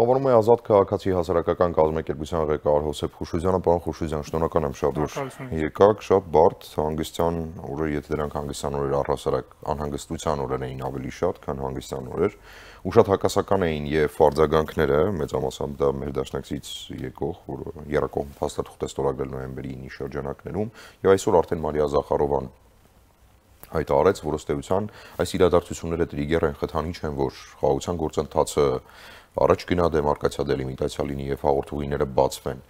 Խաղավորում է ազատ քաղաքացի հասարակական կազմակերպության ղեկավար Հոսեփ Խուշուձյանը, պարոն Խուշուձյան, շնորհակալ եմ շատ, որ եկաք, շատ բարդ, հանգստյան օրեր, եթե դրանք հանգստյան օրեր առհասարակ անհանգստության օրեր էին ավելի շատ, քան հանգստյան օրեր, ու շատ հակասական էին եւ արձագանքները, մեծամասամբ դա մեր դաշնակցից եկող, որ երակողմ փաստաթուղթ է ստորագրել նոյեմբերի 9-ի շրջանակներում, եւ այսօր արդեն Մարիա Զախարովան հայտարարեց, որ ըստ էության այս իրադարձությունները տրիգեր են, խթանիչ են, որ խաղաղության գործընթացը առաջ գնա, դեմարկացիա դելիմիտացիա լինի եւ հաղորդուղիները բացվեն,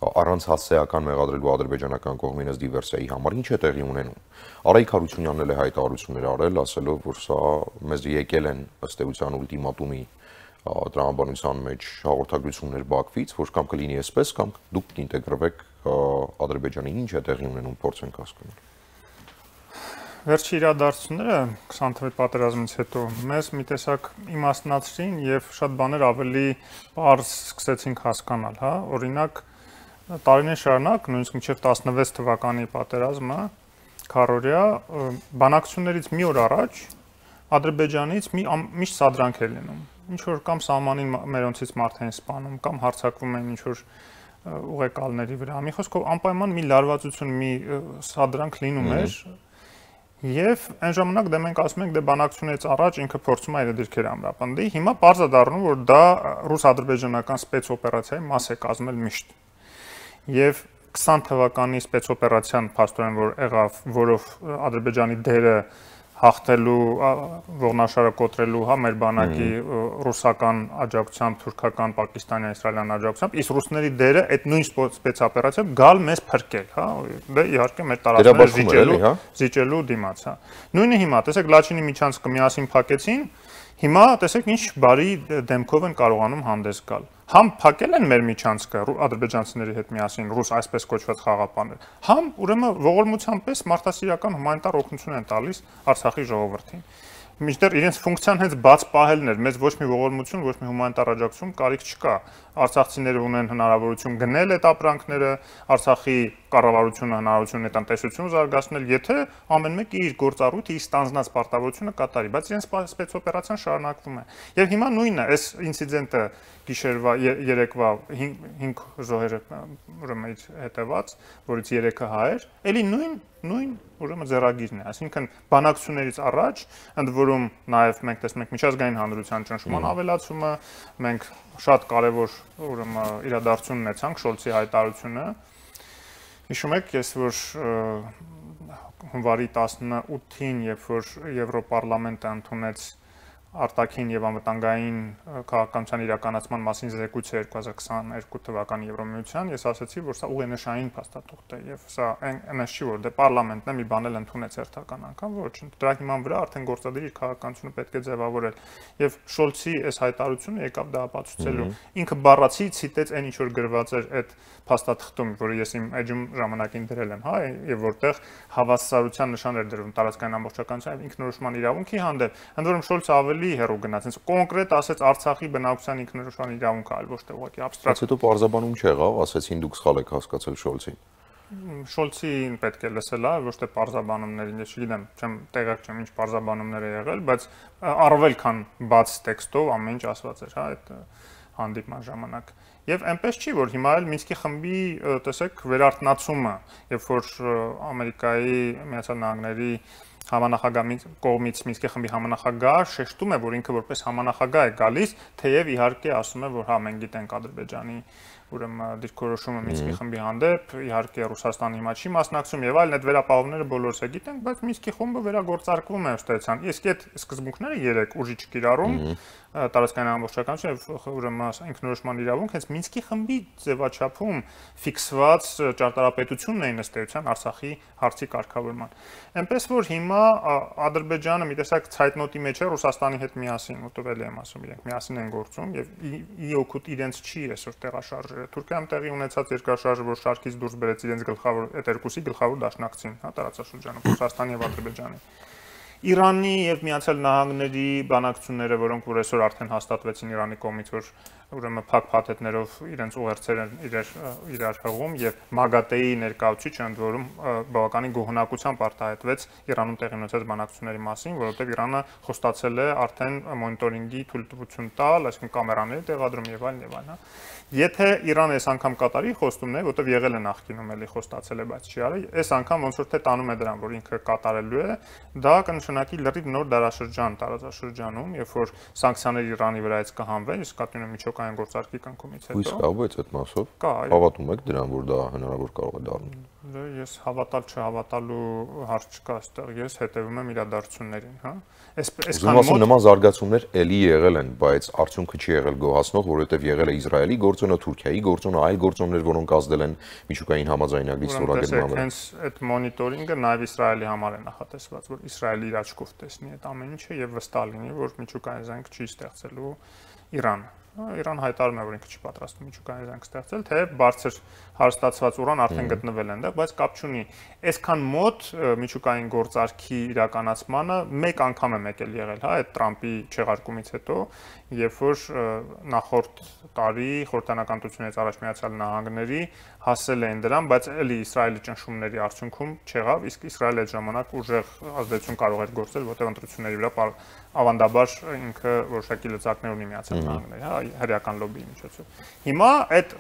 առանց հասցեական մեղադրելու ադրբեջանական կողմին ըստ դիվերսիայի համար, ինչ է տեղի ունենում։ Արայիկ Հարությունյանն էլ է հայտարարություններ արել, ասելով, որ սա մեզ եկել են ըստ էության ուլտիմատումի տրամաբանության մեջ հաղորդագրություններ Բաքվից, որ կամ կլինի այսպես, կամ դուք կինտեգրվեք Ադրբեջանին, ինչ է տեղի ունենում, փորձենք հասկանալ։ Վերջի իրադարձությունները 20 թվականի պատերազմից հետո մեզ մի տեսակ իմաստնացրին եւ շատ բաներ ավելի պարզ սկսեցինք հասկանալ, հա, օրինակ տարիներ շարունակ, նույնիսկ մինչև 16 թվականի պատերազմը, քարորիա բանակցություններից մի օր առաջ Ադրբեջանից միշտ սադրանք էր լինում։ Ինչ որ կամ սահմանին մերոնցից մարդ էին սպանում, կամ հարձակվում էին ինչ որ ուղեկալների վրա։ Մի խոսքով անպայման մի լարվածություն, մի սադրանք լինում էր։ Եվ այն ժամանակ դե մենք ասում ենք դե բանակցությունից առաջ ինքը փորձում է իր դիրքերը ամրապնդի, հիմա պարզ է դառնում, որ դա ռուս-ադրբեջանական սպեցօպերացիայի մաս է կազմել միշտ։ Եվ 20 թվականի սպեցօպերացիան փաստորեն որ եղավ, որով Ադրբեջանի դերը հաղթելու, ողնաշարը կոտրելու, հա, մեր բանակի ռուսական աջակցությամբ, թուրքական, պակիստանյան, իսրայելյան աջակցությամբ, իսկ ռուսների դերը այդ նույն սպեցօպերացիայով գալ մեզ փրկել, հա, դե իհարկե մեր տարածքները զիջելու դիմաց, հա։ Նույնը հիմա, տեսեք, Լաչինի միջանցքը միասին փակեցին, հիմա տեսեք ինչ բարի դեմքով են կարողանում հանդես գալ։ Համ փակել են մեր միջանցքը ադրբեջանցիների հետ միասին ռուս այսպես կոչված խաղապաններ, համ ուրեմն ողորմության պես մարդասիրական հումանիտար օգնություն են տալիս Արցախի ժողովրդին։ Մինչդեռ իրենց ֆունկցիան հենց բաց պահելն էր, մեզ ոչ մի ողորմություն, ոչ մի հումանիտար աջակցություն կարիք չկա։ Արցախցիները ունեն հնարավորություն գնել այդ ապրանքները, Արցախի կառավարությունը հնարավորություն է տնտեսություն զարգացնել, եթե ամեն մեկը իր գործառույթը, իր ստանձնած պարտավորությունը կատարի, բայց իրենց սպեցօպերացիան շարունակվում է։ Եւ հիմա նույնը, այս ինցիդենտը գիշերվա երեկվա 5 զոհերը ուրեմն իր հետևած, որից 3-ը հայեր, էլի նույն ուրեմն ձեռագիրն է, այսինքն բանակցություններից առաջ, ընդ որում նաև մենք տեսնում ենք միջազգային հանրության ճնշման ավելացումը, մենք շատ կարևոր ուրեմն իրադարձություն ունեցանք Շոլցի հայտարարությունը։ Հիշում եք, ես որ հունվարի 18-ին, երբ որ Եվրոպարլամենտը ընդունեց արտաքին եւ անվտանգային քաղաքականության իրականացման մասին զեկույցը 2022 թվականի Եվրոմիության, ես ասացի, որ սա ուղենշային փաստաթուղթ է եւ սա այնպես չի, որ դե պարլամենտն է մի բան էլ ընդունեց հերթական անգամ, ոչ, դրա հիման վրա արդեն գործադիր իր քաղաքականությունը պետք է ձևավորել։ Եվ Շոլցի այս հայտարարությունը եկավ դա ապացուցելու։ Ինքը բառացի ցիտեց այն ինչ որ գրված էր այդ փաստաթղթում, որը ես իմ էջում ժամանակին դրել եմ, հա, եւ որտեղ հավասարության նշան էր դրվում տարածքային ամբողջականության եւ ինքնորոշման իրավունքի հանդեպ, ընդ որում Շոլցը ավելի հեռու գնաց, հենց կոնկրետ ասեց Արցախի բնակության ինքնորոշման իրավունքը, այլ ոչ թե ուղղակի աբստրակտ։ Հետո պարզաբանում չեղավ, ասեցին դուք սխալ եք հասկացել Շոլցին։ Շոլցին պետք է լսել, ոչ թե պարզաբանումներին, ես չգիտեմ, չեմ տեղյակ չեմ ինչ պարզաբանումներ է եղել, բայց առավել քան բաց տեքստով ամեն ինչ ասված էր, հա, այդ հանդիպման ժամանակ։ Եվ այնպես չի, որ հիմա էլ Մինսկի խմբի, տեսեք, վերարտնացումը, երբ որ Ամերիկայի Միացյալ Նահանգների համանախագահի կողմից Մինսկի խմբի համանախագահ շեշտում է, որ ինքը որպես համանախագահ է գալիս, թեև իհարկե ասում է, որ հա մենք գիտենք Ադրբեջանի ուրեմն դիրքորոշումը Մինսկի խմբի հանդեպ, իհարկե Ռուսաստանը հիմա չի մասնակցում եւ այլն, այդ վերապահովները բոլորս է գիտենք, բայց Մինսկի խումբը վերագործարկվում է ըստեյցան։ Իսկ այդ սկզբունքները 3 ուժի չկիրառում, տարածքային ամբողջականություն եւ ուրեմն ինքնորոշման իրավունք, հենց Մինսկի խմբի ձևաչափում ֆիքսված ճարտարապետությունն էին ըստեյցան Արցախի հարցի կարգավորման։ Այնպես որ հիմա Ադրբեջանը մի տեսակ ցայտնոտի մեջ է Ռուսաստանի հետ միասին, ուտվել եմ ասում, իրենք միասին են գործում եւ ի օգուտ իրենց չի այսօր տեղաշարժերը։ Թուրքիայում տեղի ունեցած երկրաշարժը, որ շարքից դուրս բերեց իրենց գլխավոր այդ երկուսի գլխավոր դաշնակցին, հա, տարածաշրջանում, Ռուսաստանի եւ Ադրբեջանի։ Իրանի եւ Միացյալ Նահանգների բանակցությունները, որոնք որ այսօր արդեն հաստատվեցին Իրանի կողմից, որ ուրեմն փակ փաթեթներով իրենց ուղերձերը իրար հղում եւ Մագատեի ներկայացուցիչը ընդ որում բավականին գոհնակությամբ արտահայտվեց Իրանում տեղի ունեցած բանակցությունների մասին, որովհետեւ Իրանը խոստացել է արդեն մոնիտորինգի թույլտվություն տալ, այսինքն կամերաների տեղադրում եւ այլն եւ այլն, Եթե Իրանը այս անգամ կատարի խոստումներ, որտեղ եղել է նախկինում էլի խոստացել է, բայց չի արել, այս անգամ ոնց որ թե տանում է դրան, որ ինքը կատարելու է, դա կնշանակի լրիվ նոր դարաշրջան տարածաշրջանում, երբ որ սանկցիաները Իրանի վրայից կհանվեն, իսկ կատյունը միջոկային գործարքի կնքումից հետո։ Իսկ կապված այդ մասով հավատում եք դրան, որ դա հնարավոր կարող է դառնալ։ Ես հավատալ չհավատալու հարց չկա այստեղ, ես հետևում եմ իրադարձություններին, հա։ Այսքան մոտ նման զարգացումներ էլի եղել են, բայց արդյունքը չի եղել գոհացնող, որովհետև եղել է Իսրայելի գործոնը, Թուրքիայի գործոնը, այլ գործոններ, որոնք ազդել են միջուկային համաձայնագրի ստորագրման վրա։ Հենց այդ մոնիտորինգը նաև Իսրայելի համար է նախատեսված, որ Իսրայելի իր աչքով տեսնի այդ ամեն ինչը եւ վստահ լինի, որ միջուկային զենք չի ստեղծելու Իրանը։ Իրան հայտարարում է, որ ինքը չի պատրաստվում միջուկային զենք ստեղծել, թե բարձր հարստացված ուրան արդեն գտնվել է այնտեղ, բայց կապ չունի։ Այսքան մոտ միջուկային գործարքի իրականացմանը մեկ անգամ է եկել եղել, հա, այդ Տրամպի չեղարկումից հետո, երբ որ նախորդ տարի խորհրդանական ընտրությունից առաջ Միացյալ Նահանգների հասել էին դրան, բայց էլի Իսրայելի ճնշումների արդյունքում չեղավ, իսկ Իսրայելը այդ ժամանակ ուժեղ ազդեցություն կարող էր գործել, որտեղ ընտրությունների վրա ավանդաբար ինքը որոշակի լծակներ ունի Միացյալ Նահանգների, հա, հրեական լոբիի միջոցով։ Հիմա այդ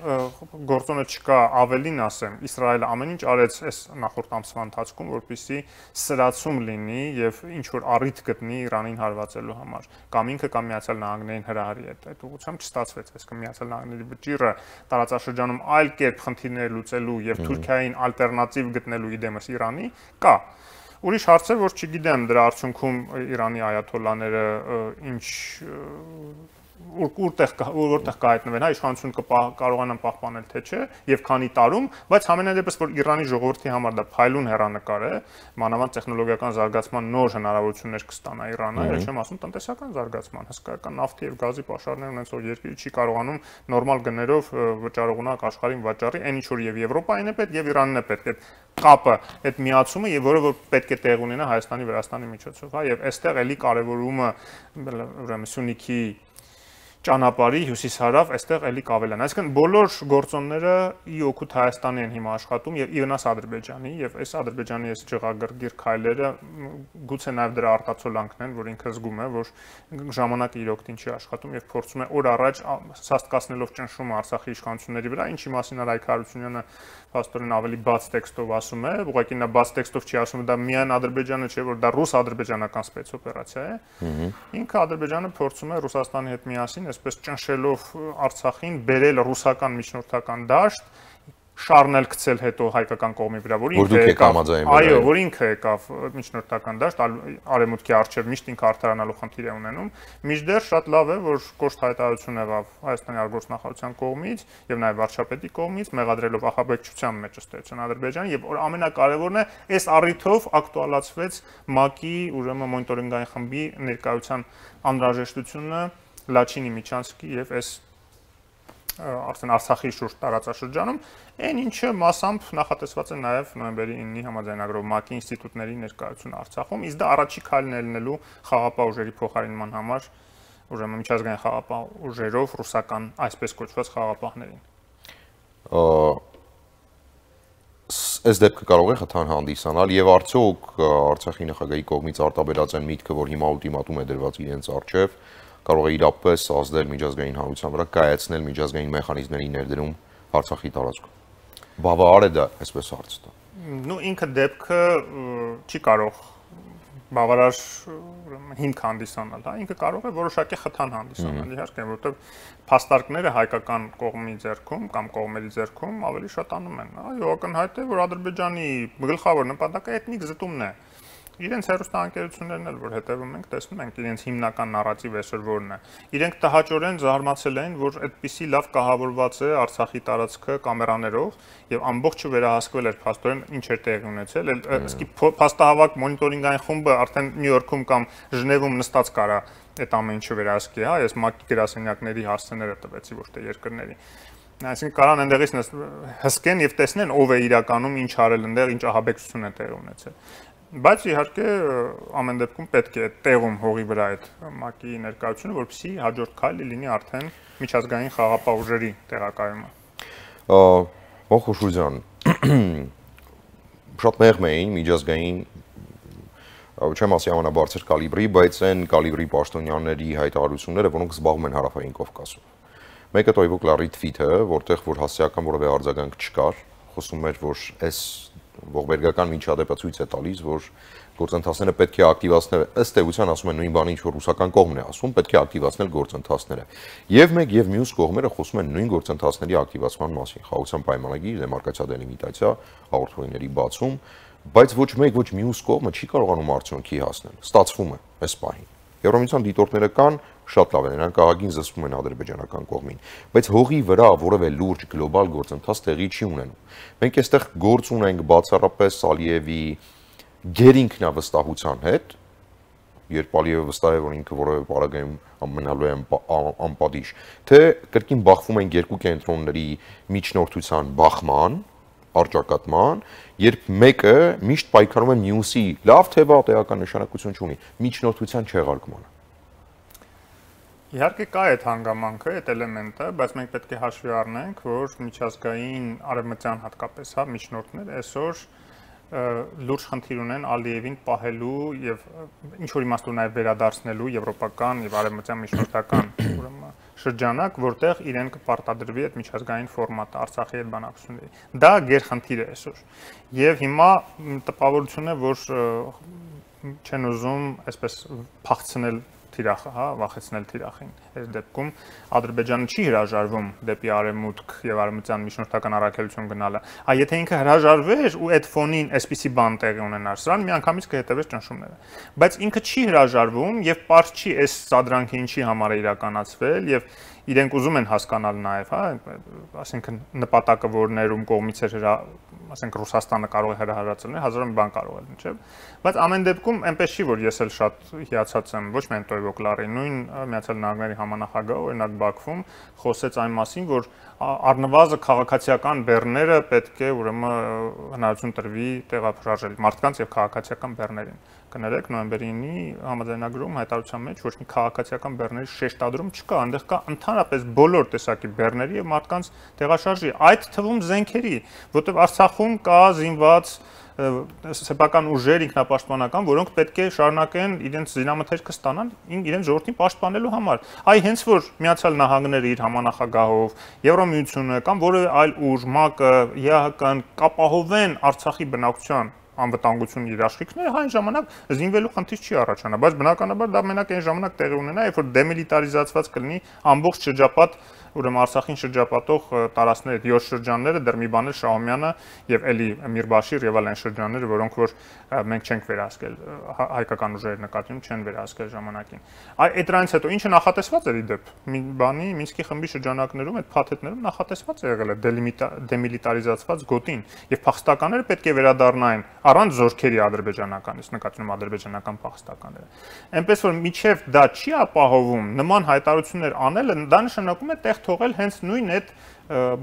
գործոնը չկա, ավելին ասեմ, Իսրայելը ամեն ինչ արեց այս նախորդ ամսվա ընթացքում, որպեսզի սրացում լինի եւ ինչ որ առիթ գտնի Իրանին հարվածելու համար, կամ ինքը կամ Միացյալ Նահանգներին հրահարի այդ ուղղությամբ չստացվեց, այսինքն Միացյալ Նահանգների վճիռը տարածաշրջանում այլ կերպ խնդիրներ լուծելու եւ Թուրքիային ալտերնատիվ գտնելու իդեմս Իրանի կա։ Ուրիշ հարց է, որ չգիտեմ դրա արդյունքում Իրանի այաթոլլաները ինչ որտեղ կհայտնվեն, հա, իշխանությունը կարողանան պահպանել թե չէ եւ քանի տարում, բայց համենայն դեպս որ Իրանի ժողովրդի համար դա փայլուն հեռանկար է, մանավանդ տեխնոլոգիական զարգացման նոր հնարավորություններ կստանա Իրանը, այլ չեմ ասում տնտեսական զարգացման, հսկայական նավթի եւ գազի պաշարներ ունեցող երկիրը չի կարողանում նորմալ գներով վճարողունակ աշխարհին վաճառի, այն ինչ որ եւ Եվրոպային է պետք եւ Իրանն է պետք, այդ կապը, այդ միացումը եւ որը որ պետք է տեղ ունենա Հայաստանի Վրաստանի միջոցով, հա, եւ այստեղ էլի կարեւորումը ուրեմն Սյունիքի ճանապարհի հյուսիս-հարավ այստեղ էլի կավելան։ Այսինքն բոլոր գործոնները ի օգուտ Հայաստանի են հիմա աշխատում եւ իվնաս Ադրբեջանի եւ այս Ադրբեջանի այս ջղագրգիռ քայլերը գուցե նաեւ դրա արտացոլանքն են, որ ինքը զգում է, որ ժամանակը իր օգտին չի աշխատում եւ փորձում է օր առաջ սաստկացնելով ճնշումը Արցախի իշխանությունների վրա, ինչի մասին Արայք Հարությունյանը փաստորեն ավելի բաց տեքստով ասում է, ուղղակի նա բաց տեքստով չի ասում, դա միայն Ադրբեջանը չէ, որ դա ռուս-ադրբեջանական սպեցօպերացիա է։ Ինքը Ադրբեջանը փորձում է Ռուսաստանի հետ միասին այսպես ճնշելով Արցախին բերել ռուսական միջնորդական դաշտ, շարնել գցել հետո հայկական կողմի վրա, որ ինքը եկավ, այո, որ ինքը եկավ միջնորդական դաշտ, արևմուտքի արչև միշտ ինքը արդարանալու խնդիր է ունենում, մինչդեռ շատ լավ է, որ կոշտ հայտարարություն եղավ Հայաստանի արտգործնախարարության կողմից եւ նաեւ վարչապետի կողմից, մեղադրելով ահաբեկչության մեջ ըստեյության Ադրբեջանը եւ ամենակարևորն է, այս առիթով ակտուալացվեց ՄԱԿ-ի ուրեմն մոնիտորինգային խմբի ներկայության անհրաժեշտությունը Լաչինի Միչանսկի եւ այս արդեն Արցախի շուրջ տարածաշրջանում, այն ինչը մասամբ նախատեսված է նաև նոյեմբերի 9-ի համաձայնագրով ՄԱԿ-ի ինստիտուտների ներկայություն Արցախում, իսկ դա առաջի քայլն է լինելու խաղապահ ուժերի փոխարինման համար, ուրեմն միջազգային խաղապահ ուժերով ռուսական այսպես կոչված խաղապահներին։ Այս դեպքը կարող է խթան հանդիսանալ եւ արդյոք Արցախի նախագահի կողմից արտաբերած են միտքը, որ հիմա ուլտիմատում է դրված իրենց առջև, կարող է իրապես ազդել միջազգային հանրության վրա, կայացնել միջազգային մեխանիզմների ներդրում Արցախի տարածքում։ Բավարար է դա, այսպես հարց տա։ Նու ինքը դեպքը չի կարող բավարար հիմք հանդիսանալ, հա, ինքը կարող է որոշակի խթան հանդիսանալ, իհարկե, որովհետև փաստարկները հայկական կողմի ձեռքում կամ կողմերի ձեռքում ավելի շատ անում են, այո, ակնհայտ է, որ Ադրբեջանի գլխավոր նպատակը էթնիկ զտումն է։ Իրենց հերոստանգերություններն էլ որ հետևում ենք, տեսնում ենք իրենց հիմնական նարատիվը այսօր որն է։ Իրենք տհաճորեն զարմացել են, որ այդպիսի լավ կահավորված է Արցախի տարածքը կամերաներով եւ ամբողջը վերահսկվել էր փաստորեն ինչ էր տեղի ունեցել։ Իսկ փաստահավաք մոնիտորինգային խումբը արդեն Նյու Յորքում կամ Ժնևում նստած կարա այդ ամեն ինչը վերահսկի, հա, ես ՄԱԿ-ի գրասենյակների հասցեները տվեցի ոչ թե երկրների։ Այսինքն կարան այնտեղից հսկեն եւ տեսնեն ով է իրականում ինչ արել այնտեղ, ինչ ահաբեկցություն է տեղի ունեցել։ Բայց իհարկե ամեն դեպքում պետք է տեղում հողի վրա այդ ՄԱԿ-ի ներկայությունը, որպեսզի հաջորդ քայլը լինի արդեն միջազգային խաղապահ ուժերի տեղակայումը։ Ոխուշուզյան, շատ մեղմ էին միջազգային չեմ ասի ամենաբարձր կալիբրի, բայց այն կալիբրի պաշտոնյաների հայտարարությունները, որոնք զբաղվում են Հարավային Կովկասում։ Մեկը Տոյվոկ Լարի թվիթը, որտեղ որ հասարակական որևէ արձագանք չկար, խոսում էր, որ այս ողբերգական միջադեպը ցույց է տալիս, որ գործընթացները պետք է ակտիվացնել, ըստ էության ասում են նույն բանը, ինչ որ ռուսական կողմն է ասում, պետք է ակտիվացնել գործընթացները։ Եվ մեկ եւ մյուս կողմերը խոսում են նույն գործընթացների ակտիվացման մասին, խաղաղության պայմանագիր, դեմարկացիա դելիմիտացիա, հաղորդումների բացում, բայց ոչ մեկ ոչ մյուս կողմը չի կարողանում արդյունքի հասնել։ Ստացվում է այս պահին։ Եվրոմիության դիտորդները կան, շատ լավ են, նրանք աղագին զսպում են ադրբեջանական կողմին, բայց հողի վրա որևէ լուրջ գլոբալ գործընթաց տեղի չի ունենում։ Մենք այստեղ գործ ունենք բացառապես Ալիևի գերինքնավստահության հետ, երբ Ալիևը վստահ է, որ ինքը որևէ պարագայում մնալու է անպատիժ, թե կրկին բախվում են երկու կենտրոնների միջնորդության բախման, արճակատման, երբ մեկը միշտ պայքարում է մյուսի լավ թե վատ էական նշանակություն չունի, միջնորդության չեղարկմանը։ Իհարկե կա այդ հանգամանքը, այդ էլեմենտը, բայց մենք պետք է հաշվի առնենք, որ միջազգային արևմտյան հատկապես միջնորդներ այսօր լուրջ խնդիր ունեն Ալիևին պահելու եւ ինչ որ իմաստով նաեւ վերադարձնելու եվրոպական եւ արևմտյան միջնորդական շրջանակ, որտեղ իրեն կպարտադրվի այդ միջազգային ֆորմատը Արցախի հետ բանակցությունների։ Դա գերխնդիր է այսօր։ Եվ հիմա տպավորություն է, որ չեն ուզում այսպես փախցնել թիրախը, հա, վախեցնել թիրախին։ Այս դեպքում Ադրբեջանը չի հրաժարվում դեպի արևմուտք եւ արևմտյան միջնորդական առաքելություն գնալը։ Այ եթե ինքը հրաժարվեր ու այդ ֆոնին այսպիսի բան տեղի ունենար, սրան միանգամից կհետևեր ճնշումները։ Բայց ինքը չի հրաժարվում եւ պարզ չի այս սադրանքը ինչի համար է իրականացվել եւ իրենք ուզում են հասկանալ նաեւ, հա, ասենքն նպատակը որ ներում կողմից էր ասենք Ռուսաստանը կարող է հրահարացնել, հազար մի բան կարող է, չէ՞։ Բայց ամեն դեպքում այնպես չի, որ ես էլ շատ հիացած եմ, ոչ միայն Տոյվոկ Լարի, նույն Միացյալ Նահանգների համանախագահը օրինակ Բաքվում խոսեց այն մասին, որ առնվազն քաղաքացիական բեռները պետք է ուրեմն հնարավորություն տրվի տեղափոխել մարդկանց եւ քաղաքացիական բեռներին։ Կներեք նոյեմբերի 9-ի համաձայնագրում հայտարարության մեջ ոչ մի քաղաքացիական բեռների շեշտադրում չկա, այնտեղ կա ընդհանրապես բոլոր տեսակի բեռների եւ մարդկանց տեղաշարժի, այդ թվում զենքերի, որտեղ Արցախում կա զինված սեփական ուժեր ինքնապաշտպանական, որոնք պետք է շարունակեն իրենց զինամթերքը ստանալ իրենց ժողովրդին պաշտպանելու համար։ Այ հենց որ Միացյալ Նահանգները իր համանախագահով, Եվրոմիությունը կամ որևէ այլ ուժ, ՄԱԿ-ը, ԵԱՀԿ-ն կապահովեն Արցախի բնակչության անվտանգությունն իր աշխատանքները, այն ժամանակ զինվելու խնդիր չի առաջանա, բայց բնականաբար դա մենակ այն ժամանակ տեղի ունենա, երբ որ դեմիլիտարիզացված կլինի ամբողջ շրջապատ, ուրեմն Արցախին շրջապատող տարածքները, 7 շրջանները, դեռ մի բան է Շահումյանը եւ էլի Միրբաշիր եւ այլ շրջանները, որոնք որ մենք չենք վերահսկել, հայկական ուժերը նկատի չեն վերահսկել ժամանակին։ Այդ դրանից հետո ինչը նախատեսված էր իդեպ, մի բանի Մինսկի խմբի շրջանակներում այդ փաթեթներում նախատեսված է եղել է դեմիլիտարիզացված գոտին եւ փախստականները պետք է վերադառնային առանց զորքերի ադրբեջանականից, նկատի ունեմ ադրբեջանական փախստականները։ Այնպես որ միջև դա չի ապահովում, նման հայտարարություններ անելը դա նշանակում է տեղ թողել հենց նույն այդ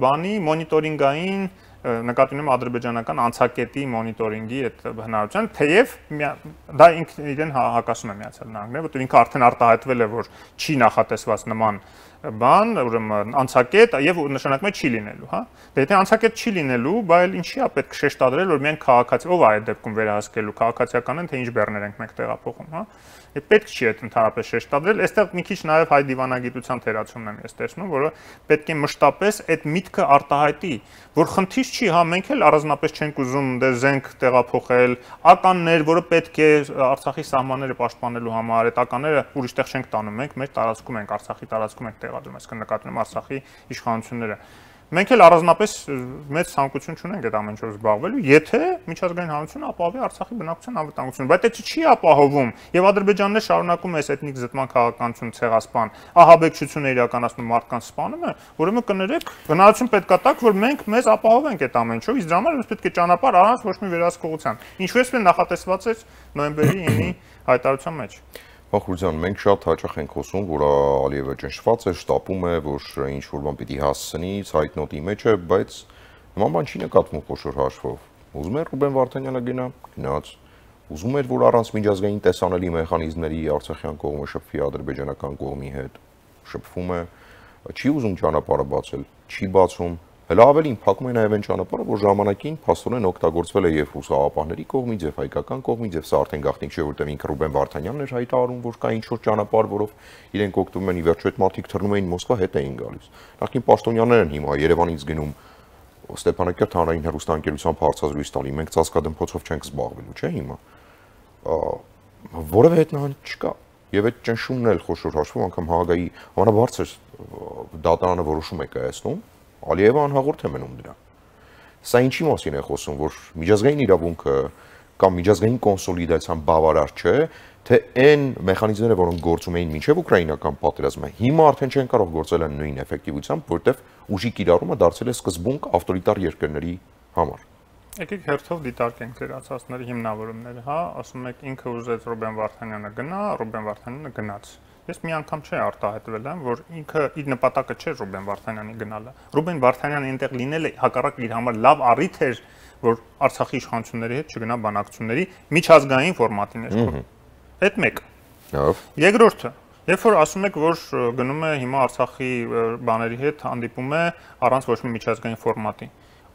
բանի մոնիտորինգային նկատի ունեմ ադրբեջանական անցակետի մոնիտորինգի այդ հնարավորության, թեև դա ինքն իրեն հակասում է Միացյալ Նահանգները, որտեղ ինքը արդեն արտահայտվել է, որ չի նախատեսված նման բան, ուրեմն անցակետ եւ նշանակում է չի լինելու, հա։ Դե եթե անցակետ չի լինելու, բայց ինչի է պետք շեշտադրել, որ միայն քաղաքացի, ով է այդ դեպքում վերահսկելու, քաղաքացիական են թե ինչ բեռներ ենք մենք տեղափոխում, հա։ Պետք չի այդ ընդհանրապես շեշտադրել, այստեղ մի քիչ նաև հայ դիվանագիտության թերացումն եմ ես տեսնում, որը պետք է մշտապես այդ միտքը արտահայտի, որ խնդիր չի, հա, մենք էլ առանձնապես չենք ուզում դե զենք տեղափոխել, ականներ, որը պետք է Արցախի սահմանները պաշտպանելու համար, այդ ականները ուրիշտեղ չենք տանում, մենք մեր տարածքում ենք, Արցախի տարածքում ենք տեղադրում, այսինքն նկատի ունեմ Արցախի իշխանությունները։ Մենք էլ առանձնապես մեծ ցանկություն չունենք այդ ամեն ինչով զբաղվելու, եթե միջազգային հանրությունը ապահովի Արցախի բնակչության անվտանգությունը, բայց դա չի ապահովում, եւ Ադրբեջանն է շարունակում այս էթնիկ զտման քաղաքականություն ցեղասպան, ահաբեկչություն է իրականացնում, մարդկանց սպանում է, ուրեմն կներեք, հնարավորություն պետք է տակ, որ մենք մեզ ապահովենք այդ ամեն ինչով, իսկ դրա համար պետք է ճանապարհ առանց ոչ մի վերահսկողության։ Ինչպես է նախատեսված էր նոյեմբերի 9-ի հայտարարության մեջ։ Ոխուզյան, մենք շատ հաճախ ենք խոսում, որ Ալիևը ճնշված է, շտապում է, որ ինչ որ բան պիտի հասցնի, ցայտնոտի մեջ է, բայց նման բան չի նկատվում խոշոր հաշվով։ Ուզում է Ռուբեն Վարդանյանը գնա, գնաց։ ուզում էր, որ առանց միջազգային տեսանելի մեխանիզմների արցախյան կողմը շփվի ադրբեջանական կողմի հետ, շփվում է, չի ուզում ճանապարհը բացել, չի բացում, հələ ավելին փակում է նաև այն ճանապարհը, որ ժամանակին փաստորեն օգտագործվել է եւ ռուսահապահների կողմից, եւ հայկական կողմից, եւ սա արդեն գաղտնիք չէ, որտեղ ինքը Ռուբեն Վարդանյանն էր հայտարարում, որ կա ինչ-որ ճանապարհ, որով իրենք օգտվում են, ի վերջո այդ մարդիկ թռնում էին Մոսկվա, հետ էին գալիս։ Նախքին պաշտոնյաներն հիմա Երևանից գնում Ստեփանակերտ հանրային հեռուստաընկերությամբ հարցազրույց տալի, մենք ծածկադմփոցով չենք զբաղվելու, չէ՞ հիմա։ Որևէ հետնահանջ չկա։ Եվ այդ ճնշումն էլ խոշոր հաշվով անգամ Հաագայի ամենաբարձր դատարանը որոշում է կայացնում, Ալիևը անհաղորդ է մնում դրան։ Սա ինչի մասին է խոսում, որ միջազգային իրավունքը կամ միջազգային կոնսոլիդացիան բավարար չէ, թե այն մեխանիզմները, որոնք գործում էին մինչև ուկրաինական պատերազմը, հիմա արդեն չեն կարող գործել են նույն էֆեկտիվությամբ, որտեղ ուժի կիրառումը դարձել է սկզբունք ավտորիտար երկրների համար։ Եկեք հերթով դիտարկենք ձեր ասածների հիմնավորումները, հա, ասում եք ինքը ուզեց Ռուբեն Վարդանյանը գնա, Ռուբեն Վարդանյանը գնաց։ Ես մի անգամ չի արտահայտվել եմ, որ ինքը իր նպատակը չէր Ռուբեն Վարդանյանի գնալը։ Ռուբեն Վարդանյանը այնտեղ լինելը հակառակ իր համար լավ առիթ էր, որ Արցախի իշխանությունների հետ չգնա բանակցությունների միջազգային ֆորմատի ներքո։ Այդ մեկ։ Երկրորդը, երբ որ ասում եք, որ գնում է հիմա Արցախի բաների հետ հանդիպում է առանց ոչ մի միջազգային ֆորմատի,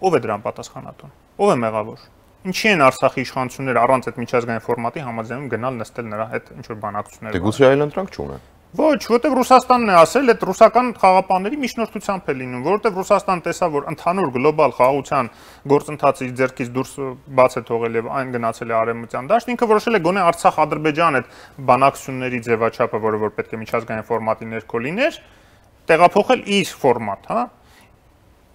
ով է դրան պատասխանատուն։ Ով է մեղավոր։ Ինչի են Արցախի իշխանությունները առանց այդ միջազգային ֆորմատի համաձայնում գնալ նստել նրա հետ ինչ որ բանակցություններ։ Դե գուցե այլ ընտրանք չունեն։ Ոչ, որտեվ Ռուսաստանն է ասել, այդ ռուսական խաղապանների միջնորդությամբ է լինում, որտեվ Ռուսաստան տեսավ, որ ընդհանուր գլոբալ խաղաղության գործընթացը իր ձեռքից դուրս բաց է թողել եւ այն գնացել է արևմտյան դաշտ, ինքը որոշել է գոնե Արցախ-Ադրբեջան այդ բանակցությունների ձևաչափը, որը որ պետք է միջազգային ֆորմատի ներքո լիներ, տեղափոխել իր ֆորմատ, հա։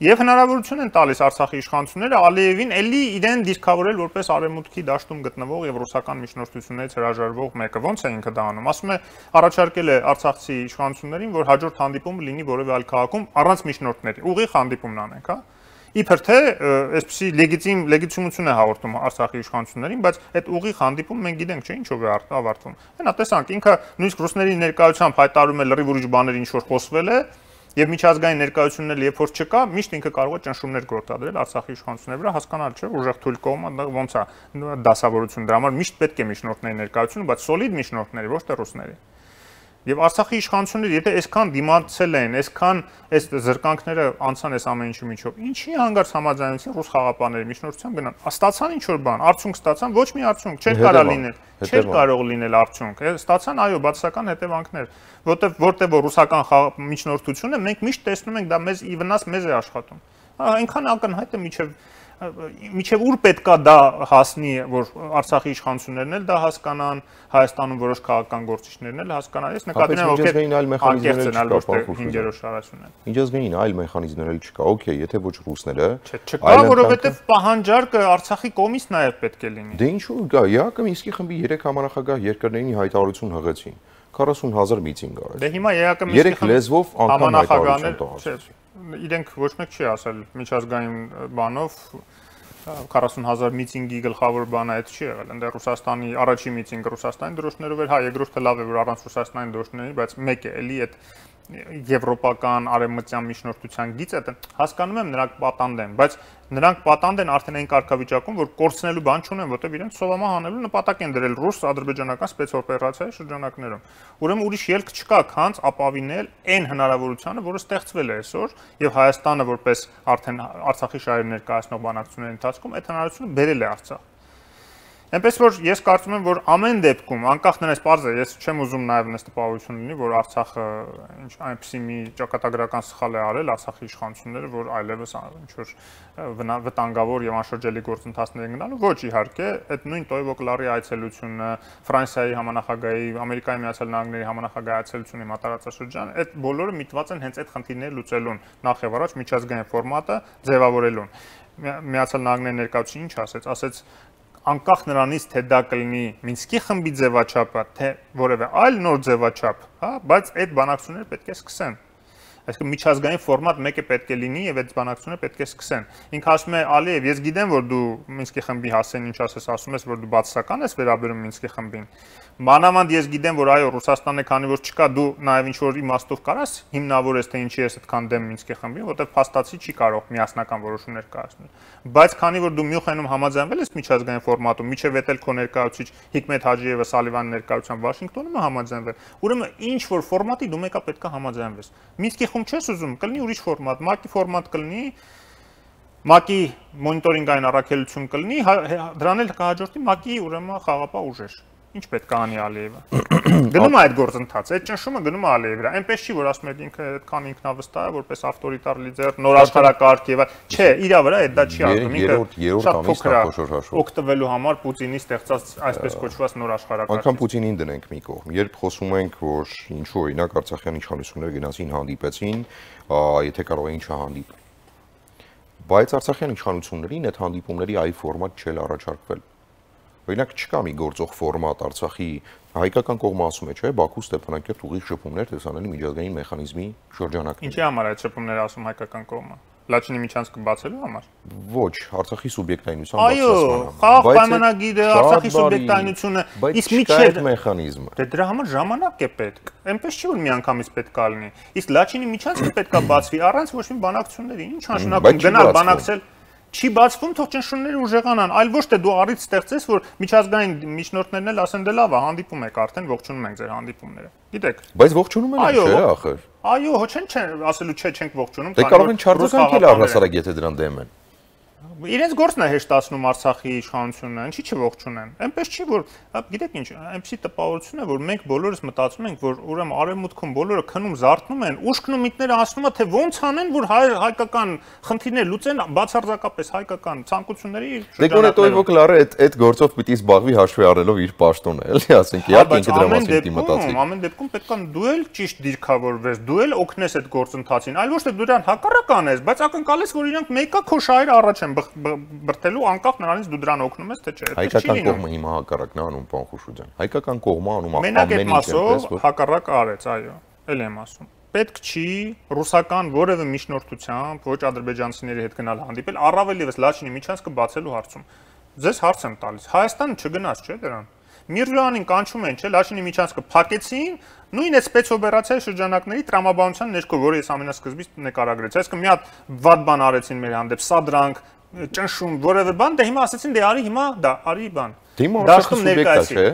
Եվ հնարավորություն են տալիս Արցախի իշխանությունները Ալիևին էլի իրեն դիրքավորել որպես արևմուտքի դաշտում գտնվող եւ ռուսական միջնորդություններից հրաժարվող մեկը։ Ոնց է ինքը դա անում։ Ասում է առաջարկել է արցախցի իշխանություններին, որ հաջորդ հանդիպումը լինի որևէ այլ քաղաքում առանց միջնորդների։ Ուղիղ հանդիպումն անենք, հա։ Իբր թե այսպեսի լեգիտիմություն է հաղորդում Արցախի իշխանություններին, բայց այդ ուղիղ հանդիպումը մենք գիտենք, չէ՞, ինչով է ավարտվում։ Հենա տեսանք, ինքը նույնիսկ ռուսների ներկայությամբ հայտարարում է լրիվ ուրիշ բաներ, ինչ որ խոսվել է։ Եվ միջազգային ներկայությունները երբ որ չկա, միշտ ինքը կարող է ճնշումներ գործադրել Արցախի իշխանությունների վրա, հասկանալ չէ, ուժեղ թույլ կողմը ոնց է դասավորություն դրա համար միշտ պետք է միջնորդների ներկայությունը, բայց սոլիդ միջնորդների, ոչ թե ռուսների։ Եվ Արցախի իշխանությունները, եթե այսքան դիմացել են, այսքան այս զրկանքները անցան այս ամեն ինչի միջով, ինչի հանգարց համաձայնեցին ռուս խաղապանների միջնորդությամբ գնան։ Ստացան ինչ որ բան, արդյունք ստացան, ոչ մի արդյունք, չէր կարող լինել, չէր կարող լինել արդյունք։ Ստացան, այո, բացասական հետևանքներ, որտեղ որ ռուսական միջնորդությունը մենք միշտ տեսնում ենք դա մեզ ի վնաս մեզ է աշխատում։ Այնքան ակնհայտ է միջև ուր պետքա դա հասնի, որ Արցախի իշխանություններն էլ դա հասկանան, Հայաստանում որոշ քաղաքական գործիչներն էլ հասկանան։ Ես նկատի ունեմ, ովքեր անկեղծ են, այլ ոչ թե 5-րդ շարաշուն են։ Միջազգային այլ մեխանիզմներ էլ չկա, օքեյ, եթե ոչ ռուսները, չկա, որովհետև պահանջարկը Արցախի կողմից նաև պետք է լինի։ Դե ինչու՞ գա, ԵԱԿ-ը Մինսկի խմբի 3 համանախագահ երկրներին հայտարարություն հղեցին, 40,000 միտինգ արեց։ Դե հիմա ԵԱԿ-ը Մինսկի խմբի լեզվով անգամ հայտարարություն տվեցին։ Իրենք ոչ մեկ չի ասել միջազգային բանով 40,000 միտինգի գլխավոր բանը այդ չի եղել։ Այնտեղ Ռուսաստանի առաջի միտինգը Ռուսաստանի դրոշներով էր, հա, երկրորդը լավ է, որ առանց Ռուսաստանի դրոշների, բայց մեկ է, էլի այդ եվրոպական արևմտյան միջնորդության գիծը հասկանում եմ նրանք պատանդ են, բայց նրանք պատանդ են արդեն այն կարգավիճակում, որ կորցնելու բան չունեն, որտեղ իրենք սովամա հանելու նպատակ են դրել ռուս-ադրբեջանական սպեցօպերացիայի շրջանակներում։ Ուրեմն ուրիշ ելք չկա, քանց ապավինել այն հնարավորությունը, որը ստեղծվել է այսօր, եւ Հայաստանը որպես արդեն Արցախի շահեր ներկայացնող բանակցությունների ընթացքում այդ հնարավորությունը բերել է Արցախ։ Այնպես որ ես կարծում եմ, որ ամեն դեպքում, անկախ նրանից պարզ է, ես չեմ ուզում նաև նես տպավորություն լինի, որ Արցախը այնպեսի մի ճակատագրական սխալ է արել Արցախի իշխանությունները, որ այլևս ինչ որ վտանգավոր եւ անշրջելի գործընթացներ են գնալու, ոչ իհարկե, այդ նույն Տոյվոկլարի այցելությունը, Ֆրանսիայի համանախագահի, Ամերիկայի Միացյալ Նահանգների համանախագահի այցելությունը հիմա տարածաշրջան, այդ բոլորը միտված են հենց այդ խնդիրները լուծելուն, նախ եւ առաջ միջազգային ֆորմատը ձևավորելուն։ Միացյալ Նահանգների ներկայացուցիչը ինչ ասեց, անկախ նրանից թե դա կլինի Մինսկի խմբի ձևաչափը, թե որևէ այլ նոր ձևաչափ, հա, բայց այդ բանակցությունները պետք է սկսեն։ Այսինքն միջազգային ֆորմատ մեկը պետք է լինի եւ այդ բանակցությունը պետք է սկսեն։ Ինքը ասում է Ալիև, ես գիտեմ, որ դու Մինսկի խմբի հասցեն ինչ ասում ես, որ դու բացասական ես վերաբերում Մինսկի խմբին։ Մանավանդ ես գիտեմ, որ այո, Ռուսաստանը քանի որ չկա, դու նաեւ ինչ որ իմաստով կարաս հիմնավորես, թե ինչի ես այդքան դեմ Մինսկի խմբին, որտեղ փաստացի չի կարող միասնական որոշումներ կայացնել։ Բայց քանի որ դու Մյունխենում համաձայնվել ես միջազգային ֆորմատում, միջև էտել քո ներկայացուցիչ Հիկմետ Հաջիևը Սալիվանի ներկայությամբ Վաշինգտոնում է համաձայնվել, ուրեմն ինչ որ ֆորմատի դու մեկա պետք է համաձայնվես։ Մինսկի խումբ չես ուզում, կլինի ուրիշ ֆորմատ, ՄԱԿ-ի ֆորմատ կլինի, ՄԱԿ-ի մոնիտորինգային առաքելություն կլինի, դրան էլ կհաջորդի ՄԱԿ-ի ուրեմն խաղապահ ուժեր։ Ինչ պետք է անի Ալիևը։ Գնում է այդ գործընթացը, այդ ճնշումը գնում է Ալիևի վրա։ Այնպես չի, որ ասում եք ինքը այդքան ինքնավստահ է, որպես ավտորիտար լիդեր, նոր աշխարհակարգ եւ չէ, իր վրա այդ դա չի ասում։ Ինքը շատ փոքր է օգտվելու համար Պուտինի ստեղծած այսպես կոչված նոր աշխարհակարգ։ Անկամ Պուտինին դնենք մի կողմ։ Երբ խոսում ենք, որ ինչու օրինակ Արցախյան իշխանությունները գնացին հանդիպեցին, եթե կարող էին չհանդիպել։ Բայց Արցախյան իշխանություններին այդ հանդիպումների այ ֆորմատ չէր առաջարկվել։ Օրինակ չկա մի գործող ֆորմատ Արցախի հայկական կողմը ասում է, չէ, Բաքու Ստեփանակերտ ուղիղ շփումներ տեսանելի միջազգային մեխանիզմի շրջանակներ։ Ինչի համար այդ շփումները ասում հայկական կողմը։ Լաչինի միջանցքը բացելու համար։ Ոչ, Արցախի սուբյեկտայնության բացասման համար։ Այո, խաղաղ պայմանագիրը, Արցախի սուբյեկտայնությունը, իսկ միջև մեխանիզմը։ Դե դրա համար ժամանակ է պետք։ Այնպես չի որ միանգամից պետք է լինի։ Իսկ Լաչինի միջանցքը պետք է բացվի առանց ոչ մի բանակցությունների։ Ինչ նշանակում գնալ բանակցել չի բացվում, թող ճնշումները ուժեղանան, այլ ոչ թե դու առիթ ստեղծես, որ միջազգային միջնորդներն էլ ասեն դե լավ է, հանդիպում եք արդեն, ողջունում ենք ձեր հանդիպումները։ Գիտեք։ Բայց ողջունում են չէ, ախր։ Այո, հո չեն ասելու չէ, չենք ողջունում, դե կարող են չարձագանքել էլ առհասարակ, եթե դրան դեմ են։ Իրենց գործն է հեշտացնում Արցախի իշխանությունը, ինչի՞ չողջունեն։ Այնպես չի որ, գիտեք ինչ, այնպեսի տպավորություն է, որ մենք բոլորս մտածում ենք, որ ուրեմն արևմուտքում բոլորը քնում զարթնում են, ուշքն ու միտները ասում են, թե ոնց անեն, որ հայկական խնդիրներ լուծեն բացարձակապես հայկական ցանկությունների շրջանակներում։ Դե գոնե Տոյվոկ Լարը այդ գործով պիտի զբաղվի հաշվի առնելով իր պաշտոնը, էլի ասենք, իհարկե ինքը դրա մասին պիտի մտածի։ Ամեն դեպքում պետք է դու էլ ճիշտ դիրքավորվես, դու էլ օգնես այդ գործընթացին, այլ ոչ թե դու դրան հակառակ անես, բայց ակնկալես, որ իրանք մեկը քո շահերը առաջ են բրթելու անկախ նրանից դու դրան օգնում ես թե չէ։ Հայկական կողմը հիմա հակառակն է անում, պարոն Խուշուձյան։ Հայկական կողմը անում ամեն ինչ, հակառակ արեց, այո, էլ եմ ասում։ Պետք չի ռուսական որևէ միջնորդությամբ ոչ ադրբեջանցիների հետ գնալ հանդիպել, առավել ևս Լաչինի միջանցքը բացելու հարցում։ Ձեզ հարց եմ տալիս։ Հայաստանը չգնաց, չէ՞ դրան։ Միրզոյանին կանչում են, չէ՞, Լաչինի միջանցքը փակեցին, նույն այդ սպեցօպերացիայի շրջանակների տրամաբանության ներքո, որը ես ամենասկզբից նկարագրեցի։ Այսինքն մի հատ վատ բան արեցին մեր հանդեպ, սադրանք, ճնշում, որևէ բան, դե հիմա ասեցին, դե արի հիմա, դա արի բան։ Դիմո Արցախը սուբյեկտ է, չէ՞։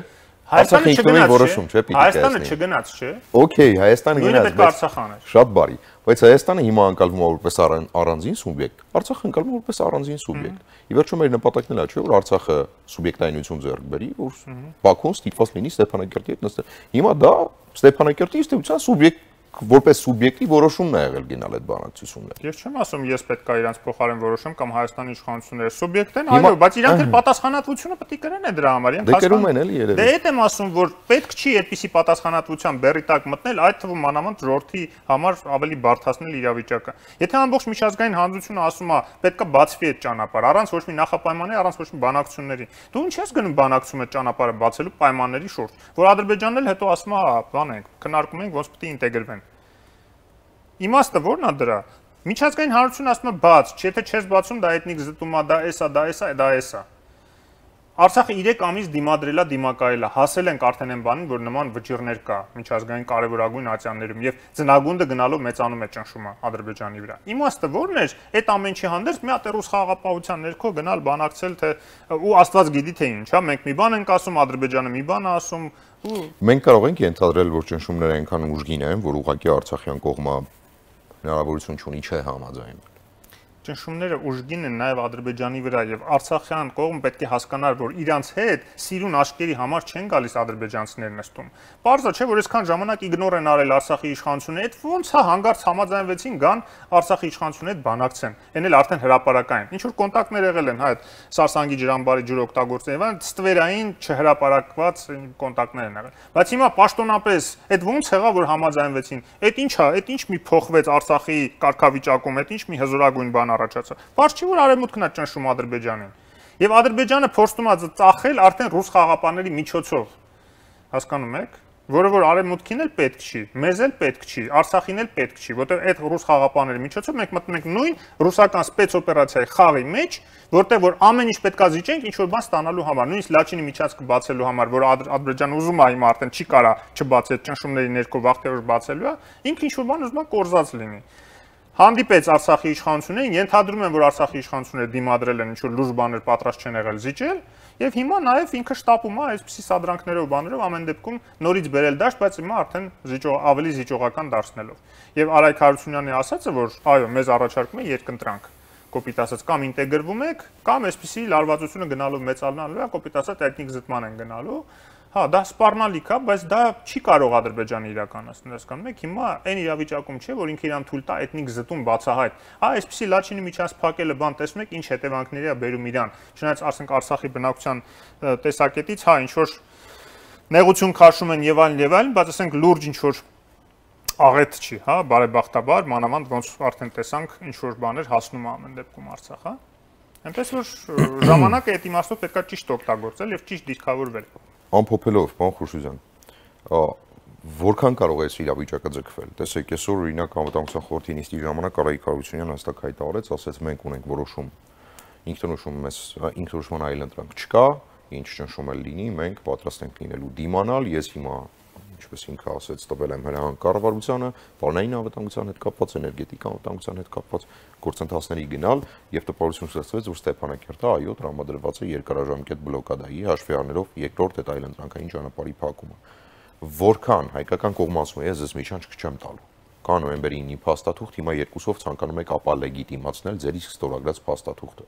Հայաստանը չգնաց, որոշում չէ, պիտի Հայաստանը չգնաց, չէ։ Okay, Հայաստանը գնաց, բայց շատ բարի, բայց Հայաստանը հիմա անկալվում է որպես առանձին սուբյեկտ, Արցախը անկալվում է որպես առանձին սուբյեկտ։ Ի վերջո մեր նպատակն էլ է, չէ, որ Արցախը սուբյեկտայնություն ձեռք բերի, որ Բաքուն ստիպված լինի Ստեփանակերտի հետ նստել։ Հիմա դա Ստեփանակերտի ինստիտուցիան սուբյեկտ որպես սուբյեկտի որոշումն է եղել գնալ այդ բանակցությունները։ Ես չեմ ասում, ես պետք է իրանց փոխարեն որոշեմ կամ Հայաստանի իշխանությունները սուբյեկտ են, այո, բայց իրանք էլ պատասխանատվությունը պետք է կրեն դրա համար։ Դե կրում են էլի երևի։ Դե այդ եմ ասում, որ պետք չի այդպիսի պատասխանատվության բեռի տակ մտնել, այդ թվում մանավանդ ժողովրդի համար ավելի բարդացնել իրավիճակը։ Եթե ամբողջ միջազգային հանրությունը ասում է, պետք է բացվի այդ ճանապարհը, առանց ոչ մի նախապայմանի, առանց ոչ մի բանակցությունների։ Դու ինչ ես գնում բանակցում այդ ճանապարհը բացելու պայմանների շուրջ, որ Ադրբեջանն էլ հետո ասում է, հա, բան ենք, քննարկում ենք, ոնց պետք է ինտեգրվեն։ Իմաստը ո՞րն է դրա։ Միջազգային հանրությունը ասում է բաց, եթե չես բացում, դա էթնիկ զտում է, դա էսա, դա էսա, դա էսա։ Արցախը 3 ամիս դիմադրելա, դիմակայելա, հասել ենք արդեն այն բանին, որ նման վճիռներ կա միջազգային կարևորագույն ատյաններում եւ ծնագունդը գնալով մեծանում է ճնշումը Ադրբեջանի վրա։ Իմաստը ո՞րն էր, այդ ամենի հանդերձ մի հատ ռուս խաղաղապահության ներքո գնալ բանակցել, թե ու Աստված գիտի թե ինչ, հա, մենք մի բան ենք ասում, Ադրբեջանը մի բան է ասում, ու մենք կարող ենք ենթադրել, որ ճնշումները այնքան ուժգին են, որ ուղղակի Արցախյան կողմը հնարավորություն չունի չէ համաձայնվել։ Ճնշումները ուժգին են նաև Ադրբեջանի վրա եւ Արցախյան կողմը պետք է հասկանար, որ իրանց հետ սիրուն աշկերի համար չեն գալիս ադրբեջանցիներ նստում։ Պարզա չէ, որ այսքան ժամանակ իգնոր են արել Արցախի իշխանությունը, այդ ոնց է հանգարց համաձայնվեցին գան Արցախի իշխանությունը հետ բանակցեն։ Էն էլ արդեն հրաապարակային։ Ինչ որ կոնտակտներ եղել են, հա, այդ Սարսանգի ջրամբարի ջրօգտագործողների, այլ ստվերային չհրաապարակված կոնտակտներ են եղել։ Բայց հիմա պաշտոնապես այդ ոնց եղավ, որ համաձայնվեցին։ Այդ ի՞նչ է, այդ ի՞նչ մի փոխվեց Արցախի կարգավիճակում, այդ ի՞նչ մի հզորագույն բան առաջացա։ Պարզ չի որ արևմուտքն է ճնշում Ադրբեջանին։ Եվ Ադրբեջանը փորձում է ծախել արդեն ռուս խաղապանների միջոցով։ Հասկանում եք։ որը որ արևմուտքին էլ պետք չի, մեզ էլ պետք չի, Արցախին էլ պետք չի, որտեղ այդ ռուս խաղապանների միջոցով մենք մտնում ենք նույն ռուսական սպեցօպերացիայի խաղի մեջ, որտեղ որ ամեն ինչ պետքա զիջենք ինչ որ բան ստանալու համար, նույնիսկ Լաչինի միջանցքը բացելու համար, որ Ադրբեջանը ուզում է հիմա արդեն չի կարա չբացի այդ ճնշումների ներքո վաղտերոշ բացելու է, ինքը ինչ որ բան ուզում է կորզած լինի։ Հանդիպեց Արցախի իշխանություններին, ենթադրում են, որ Արցախի իշխանությունները դիմադրել են ինչ-որ լուրջ բաներ պատրաստ չեն եղել զիջել, եւ հիմա նաեւ ինքը շտապում է այսպիսի սադրանքներով բաներով ամեն դեպքում նորից բերել դաշտ, բայց հիմա արդեն ավելի զիջողական դարձնելով։ Եվ Արայք Հարությունյանի ասածը, որ այո, մեզ առաջարկում է երկընտրանք, կոպիտ ասած կամ ինտեգրվում եք, կամ այսպիսի լարվածությունը գնալով մեծանալու է, կոպիտ ասած էթնիկ զտման են գնալու։ Հա, դա սպառնալիք է, բայց դա չի կարող Ադրբեջանը իրականացնել, հասկանում եք, հիմա այն իրավիճակում չէ, որ ինքը իրան թույլ տա էթնիկ զտում բացահայտ։ Հա, այսպեսի Լաչինի միջանց փակելը բան տեսնում եք, ինչ հետևանքների է բերում իրան։ Չնայած ասենք Արցախի բնակության տեսակետից, հա, ինչ որ նեղություն քաշում են եւ այլն, բայց ասենք լուրջ ինչ որ աղետ չի, հա, բարեբախտաբար, մանավանդ ոնց արդեն տեսանք, ինչ որ բաներ հասնում է ամեն դեպքում Արցախ, հա։ Այնպես որ ժամանակը այդ իմաստով պետքա ճիշտ օգտագործել եւ ճիշտ դիրքավորվել։ Ամփոփելով, պարոն Խուշուզյան, որքան կարող է այս իրավիճակը ձգվել։ Տեսեք, այսօր օրինակ անվտանգության խորհրդի նիստի ժամանակ Արայք Հարությունյանը հստակ հայտարարեց, ասաց մենք ունենք որոշում, ինքնորոշման այլընտրանք չկա, ինչ ճնշում էլ լինի, մենք պատրաստ ենք լինելու դիմանալ, ես հիմա ինչպես ինքը ասեց, տվել եմ հրահանգ կառավարությանը, բանային անվտանգության հետ կապված, էներգետիկ անվտանգության հետ կապված գործընթացների գնալ եւ տպավորություն ստեղծվեց, որ Ստեփանակերտը այո տրամադրված է երկարաժամկետ բլոկադայի հաշվի առնելով երկրորդ այդ այլընտրանքային ճանապարհի փակումը։ Որքան հայկական կողմը ասում է, ես ձեզ միջանց չեմ տալու։ Կա նոյեմբերի 9-ի փաստաթուղթ, հիմա երկուսով ցանկանում եք ապա լեգիտիմացնել ձեր իսկ ստորագրած փաստաթուղթը։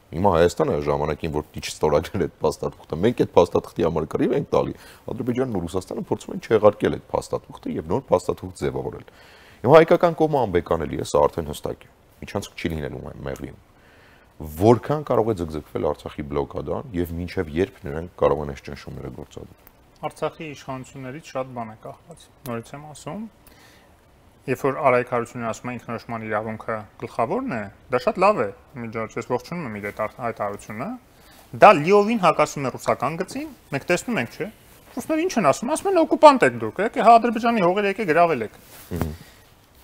Հիմա Հայաստանը ժամանակին որ դիչ ստորագրել այդ փաստաթուղթը, մենք այդ փաստաթղթի համար կռիվ ենք տալի։ Ադրբեջանն ու Ռուսաստանը փորձում են չեղարկել այդ փաստաթուղթը եւ նոր փաստաթուղթ ձևավորել։ Հիմա հայկական կողմը անբեկանելի է, սա արդեն հստակ է։ Միջանցք չի լինելու մեղրիում։ Որքան կարող է ձգձգվել Արցախի բլոկադան եւ մինչեւ երբ նրանք կարող են այս ճնշումները գործադրել։ Արցախի իշխանություններից շատ բան է կախված։ Նորից եմ ասում, երբ որ Արայք Հարությունյանը ասում է ինքնորոշման իրավունքը գլխավորն է, դա շատ լավ է։ Միջոցից ողջունում եմ իր այդ հայտարարությունը։ Դա լիովին հակասում է ռուսական գծին։ Մենք տեսնում ենք, չէ՞։ Ռուսները ինչ են ասում։ Ասում են օկուպանտ եք դուք, եկեք հա Ադրբեջանի հողերը եկեք գրավել եք։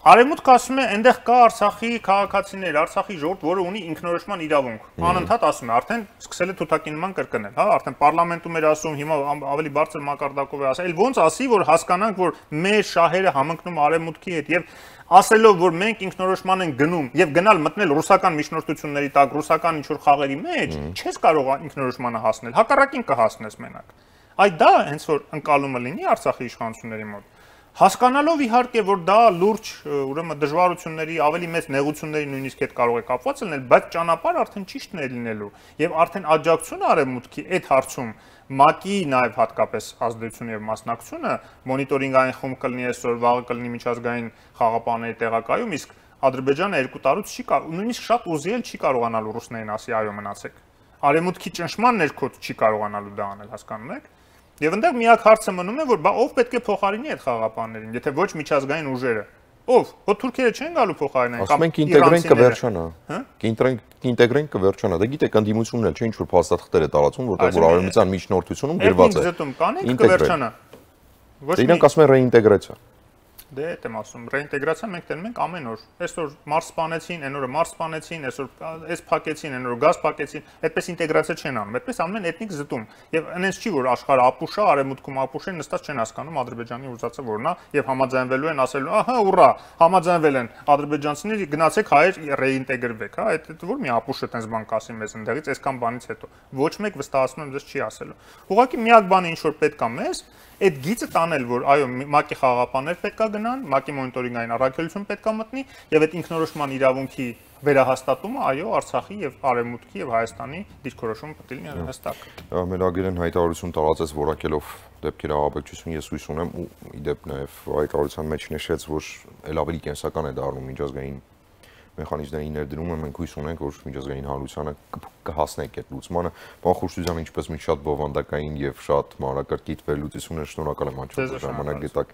Արևմուտքը ասում է, այնտեղ կա Արցախի քաղաքացիներ, Արցախի ժողովուրդ, որը ունի ինքնորոշման իրավունք։ Անընդհատ ասում է, արդեն սկսել է թութակինման կրկնել, հա, արդեն պարլամենտում էր ասում, հիմա ավելի բարձր մակարդակով է ասել, ոնց ասի, որ հասկանանք, որ մեր շահերը համընկնում Արևմուտքի հետ եւ ասելով, որ մենք ինքնորոշման ենք գնում եւ գնալ մտնել ռուսական միջնորդությունների տակ, ռուսական ինչ-որ խաղերի մեջ, չես կարող ինքնորոշմանը հասնել, հակառակին կհասնես մենակ։ Այդ դա հենց որ ընկալումը լինի Արցախի իշխանությունների մոտ։ Հասկանալով իհարկե, որ դա լուրջ, ուրեմն դժվարությունների, ավելի մեծ նեղությունների նույնիսկ հետ կարող է կապված լինել, բայց ճանապարհը արդեն ճիշտն է լինելու եւ արդեն աջակցությունը Արևմուտքի այդ հարցում ՄԱԿ-ի նաեւ հատկապես ազդեցությունը եւ մասնակցությունը մոնիտորինգային խումբ կլինի այսօր, վաղը կլինի միջազգային խաղապանների տեղակայում, իսկ Ադրբեջանը 2 տարուց չի նույնիսկ շատ ուզի էլ չի կարողանալու ռուսներին ասի այո մնացեք։ Արևմուտքի ճնշման ներքո չի կարողանալու դա անել, հասկանում եք։ Եվ այնտեղ միակ հարցը մնում է, որ բա ով պետք է փոխարինի այդ խաղապաններին, եթե ոչ միջազգային ուժերը։ Ով? Ո թուրքերը չեն գալու փոխարինեն կամ ինտեգրենք կվերջանա։ Ինտեգրենք կվերջանա։ Դա գիտեք, ընդդիմությունն էլ չէ ինչ որ փաստաթղթեր է տարածում, որտեղ որ արևմտյան միջնորդությունում գրված է։ Զտում կանենք կվերջանա։ Ոչ իրանք ասում են ռեինտեգրացիա։ Դե այդ եմ ասում, ռեինտեգրացիա մենք տենում ենք ամեն օր։ Այսօր մարս սպանեցին, այն օրը մարս սպանեցին, այսօր էս փակեցին, այն օրը գազ փակեցին, այդպես ինտեգրացիա չեն անում, այդպես անում են էթնիկ զտում։ Եվ այնպես չի որ աշխարհը ապուշ է, արևմուտքում ապուշ են, նստած չեն հասկանում Ադրբեջանի ուզածը որն է, եւ համաձայնվելու են ասելու, ահա ուռա, համաձայնվել են ադրբեջանցիները, գնացեք հայեր ռեինտեգրվեք, հա, այդ որ մի ապուշը տես բան կասի մեզ ընդեղից, այսքան բանից հետո։ Ոչ մեկ վստահացնում եմ ձեզ չի ասելու։ Ուղղակի միակ բանը ինչ որ պետք է մեզ այդ գիծը տանել, որ այո, ՄԱԿ-ի խաղապաններ պետքա գնան, ՄԱԿ-ի մոնիտորինգային առաքելություն պետքա մտնի եւ այդ ինքնորոշման իրավունքի վերահաստատումը, այո, Արցախի եւ Արևմուտքի եւ Հայաստանի դիրքորոշումը պետք է լինի հստակ։ Մելագերեն հայտարարություն տարածեց որակելով դեպքերի ահաբեկչություն, ես հույս ունեմ ու իդեպ նաեւ հայտարարության մեջ նշեց, որ ել ավելի կենսական է դառնում միջազգային մեխանիզմների ներդրումը, մենք հույս ունենք, որ միջազգային հանրությանը կհասնենք այդ լուծմանը։ Պարոն Խուշուզյան, ինչպես մի շատ բովանդակային եւ շատ մանրակրկիտ վերլուծություններ, շնորհակալ եմ անչափ ժամանակ գտաք։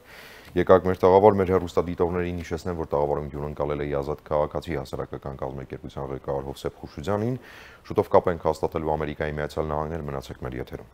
Եկաք մեր տաղավար, մեր հեռուստադիտողներին հիշեցնեմ, որ տաղավարում հյուրընկալել է Ազատ քաղաքացի հասարակական կազմակերպության ղեկավար Հովսեփ Խուշուզյանին։ Շուտով կապ ենք հաստատելու Ամերիկայի Միացյալ Նահանգներ, մնացեք մեր եթերում։